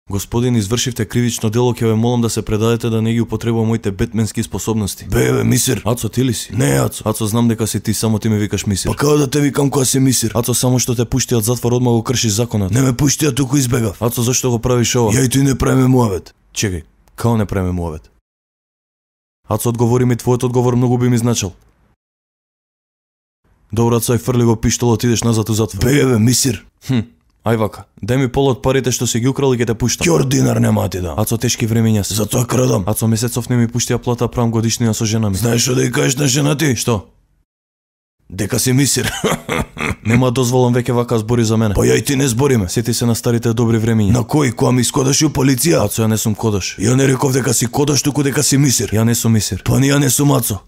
Господин, извршивте кривично дело, ќе ве молам да се предадете да не ги употребувам моите бетменски способности. Бе, мисир. Ацо, ти ли си? Не, Ацо. Ацо, знам дека си ти, само ти ме викаш мисир. Па како да те викам кога си мисир? Ацо, само што те пушти од затвор, одма го кршиш законот. Не ме пушти, а туку избегав. Ацо, зашто го правиш ова? Ја и ти не правиме муавет. Чекај, као не правиме муавет? Ацо, одговори ми, твојот одговор многу би ми значил. Добро, Ацо, ај фрли го пиштолот, идеш назад у затвор. Бе, мисир. Ај вака, дај ми пол од парите што си ги украл и ќе те пуштам. Ќор динар нема ти да. Ацо, тешки времења се. Затоа крадам. Ацо, месецов не ми пушти ја плата, правам годишнина со жена ми. Знаеш што да ја кажеш на жена ти? Што? Дека си мисир. Нема дозволам веќе вака збори за мене. Па ја и ти не збориме. Сети се на старите добри времења. На кој, кога ми искодаш у полиција? Ацо, ја не сум кодаш. Ја не реков дека си кодаш, туку дека си мисир. Ја не сум мисир. Па ни ја не сум, Ацо.